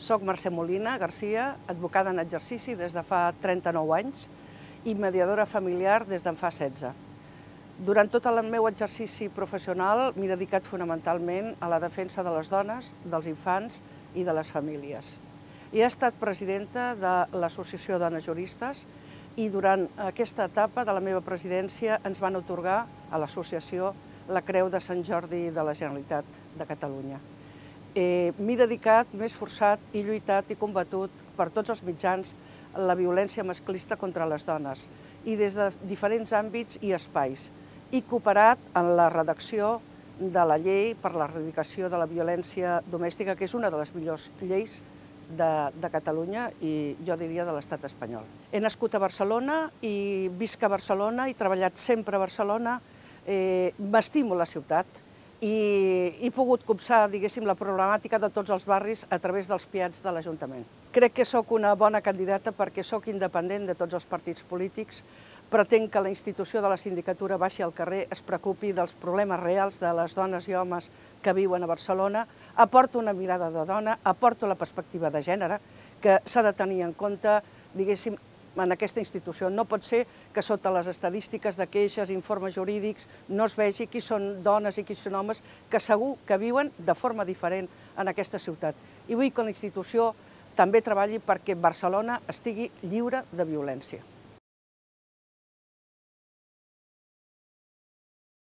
Soc Mercè Molina Garcia, advocada en exercici des de fa 39 anys i mediadora familiar des d'en fa 16. Durant tot el meu exercici professional m'he dedicat fonamentalment a la defensa de les dones, dels infants i de les famílies. He estat presidenta de l'Associació Dones Juristes i durant aquesta etapa de la meva presidència ens van atorgar a l'associació la Creu de Sant Jordi de la Generalitat de Catalunya. M'he dedicat, m'he esforçat i lluitat i combatut per tots els mitjans la violència masclista contra les dones i des de diferents àmbits i espais. He cooperat en la redacció de la llei per l'erradicació de la violència domèstica, que és una de les millors lleis de Catalunya i jo diria de l'estat espanyol. He nascut a Barcelona i visc a Barcelona, he treballat sempre a Barcelona, m'estimo la ciutat i he pogut copsar, diguéssim, la problemàtica de tots els barris a través dels PIATs de l'Ajuntament. Crec que sóc una bona candidata perquè sóc independent de tots els partits polítics, pretenc que la institució de la sindicatura baixi al carrer, es preocupi dels problemes reals de les dones i homes que viuen a Barcelona, aporto una mirada de dona, aporto la perspectiva de gènere, que s'ha de tenir en compte, diguéssim, en aquesta institució. No pot ser que sota les estadístiques de queixes, informes jurídics, no es vegi qui són dones i qui són homes que segur que viuen de forma diferent en aquesta ciutat. I vull que la institució també treballi perquè Barcelona estigui lliure de violència.